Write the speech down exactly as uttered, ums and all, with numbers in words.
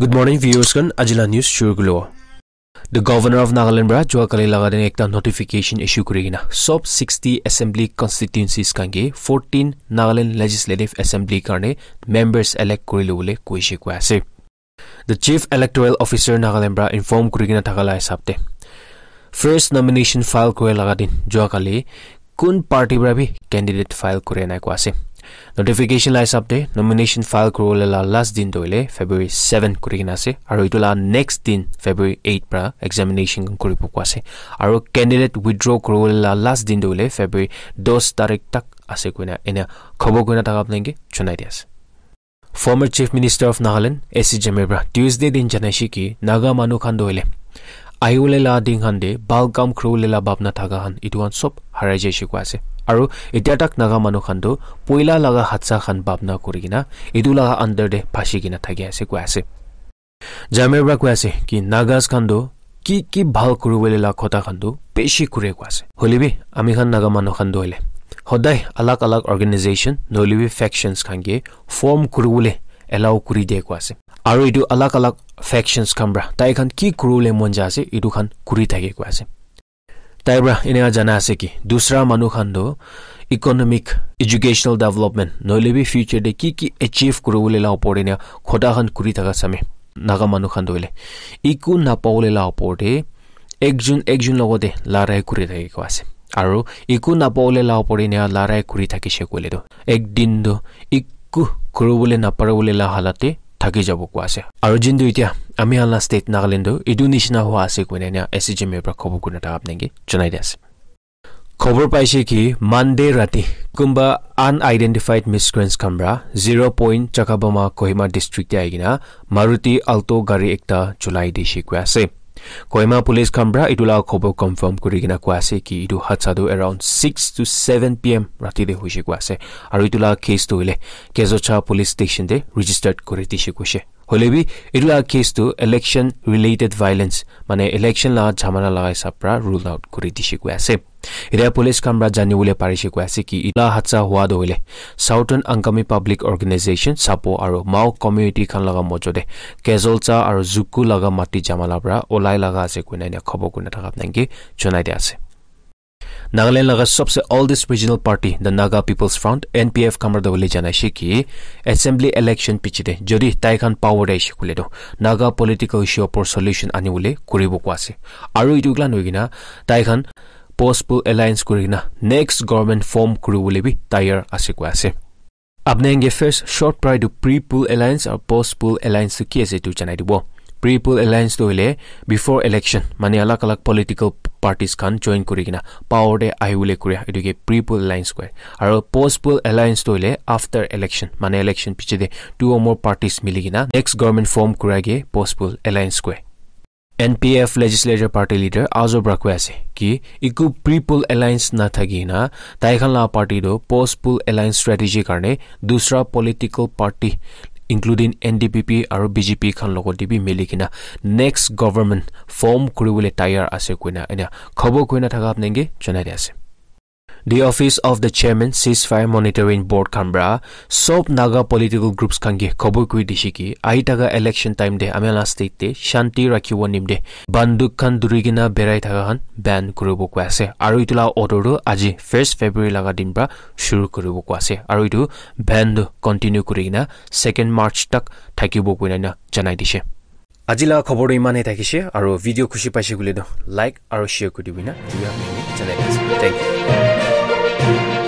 Good morning, viewers khan. Ajila news shuru kulo. The Governor of Nagaland pra jua kali laga din ekta notification issue kuri kena sob sixty assembly constituencies khan ke fourteen Nagaland Legislative Assembly karne members elect kuri lobole koise koi ase. The Chief Electoral Officer Nagaland pra inform kuri kena thaka la hisab te first nomination file kuri laga din jua kali kun party pra bi candidate file kuri nai koi ase. Notification la hisab te nomination file kuri wole la last din to hoile February seven kuri kena ase. Aru itu la next din February eight pra examination khan kuri bo koi ase. Aru candidate withdraw kuri wole la last din to hoile February dos tarik tak ase koina ena khobor koina thaka apnai ke janai di ase. Former Chief Minister of Nagaland, S C Jamir pra Tuesday din janaishe ki Naga manu khan to hoile ahiwole la din khan te bhal kam kuri wole la bhabna thaka khan itu khan sob harai jaishe koi ase. Aru itya tak Naga manu khan to poila laga hadsa khan bhabna kuri kena itu laga under te phashi kena thaki ase koi ase. Jamir pra koi ase ki Nagas khan to ki ki bhal kuri wole la khota khan to beshi kure koi ase. Hoile bi ami khan Naga manu khan to hoile hodai alag alag organization nohoile bi factions khan ke form kuri wole allow kuri de koi ase. Aru itu alag alag factions khan pra tai khan ki kuri wole mon ja ase itu khan kuri thake koi ase. Tai pra ena jana ase ki dusra manu khan to economic, educational development nohoile bi future te ki ki achieve kuri wole la opor te ena khota khan kuri thaka same Naga manu khan to hoile eku napawole la opor te ekjun ekjun logote larai kuri thake koi ase. Aru eku napawole la opor te ena larai kuri thakishe koile to ek din to eku kuri wole napare wole la halat te thaki jabo koi ase. Aru jin tu itya ami khan la state Nagaland tu etu nishina hua ase koina ena S C Jamir pra khobor kurina thaka apnai ke janai di ase. Khobor paise ki Monday rati kunba unidentified miscreants khan pra zero point Chakabama Kohima district te ahi kena Maruti Alto gari ekta cholai dishe koi ase. Kohima police khan pra etu la khobor confirm kuri kena koi ase ki etu hadsa tu around six to seven P M rati te hoishe koi ase. Aru etu la case tu hoile Kezocha police station te registered kuri dishe koishe. Hoile bi etu la case tu election related violence mane election la jhamala laga hisab pra rule out kuri dishe koi ase. Etya police khan pra jani bole parishe koi ase ki etu la hadsa hua tu hoile Southern Angami Public Organization, SAPO aru Mao community khan laga mojo te Kezolcha aru Zuku laga mati jhamala pra olai laga ase koina ena khobor kurina thaka apnai ke janai di ase. Nagaland laga sobse oldest regional party, the Naga People's Front, N P F, khan pra to hoile janaishe ki assembly election piche te jodi tai khan power te aishe koile to Naga political issue opor solution ani bole kuri bo koi ase. Aru etu klan hoi kena tai khan post poll alliance kuri kena next government form kuri bole bi tayar ase koi ase. Apni khan ke first short pra etu pre-poll alliance aru post-poll alliance tu ki ase etu janai dibo. Pre-poll alliance tu hoile before election mane alag alag political parties khan join kuri kena power te ahi bole kure etu ke pre-poll alliance koi. Aru post-poll alliance tu hoile after election mane election piche te two or more parties mili kena next government form kura ke post-poll alliance koi. N P F Legislature Party Leader Azo pra koi ase ki eku pre-poll alliance na thaki na tai khan la party tu post-poll alliance strategy karne dusra political party including N D P P aru B J P khan logot te bi mili kena next government form kuri bole tayar ase koina ena khobor koina thaka apni ke janai di ase. The Office of the Chairman Ceasefire Monitoring Board khan pra sob Naga political groups khan ke khobor kuri dishe ki ahi thaka election time te ami la state te shanti rakhibo nimte banduk khan duri kena berai thaka khan ban kuribo koi ase. Aru etu la order tu aji first February laga din pra shuru kuribo koi ase. Aru etu ban tu continue kuri kena second March tak thakibo koina ena janai dishe. Aji la khobor tu iman he thakishe, aru video khushi paishe koile tu like aru share kuri dibina. Thank you.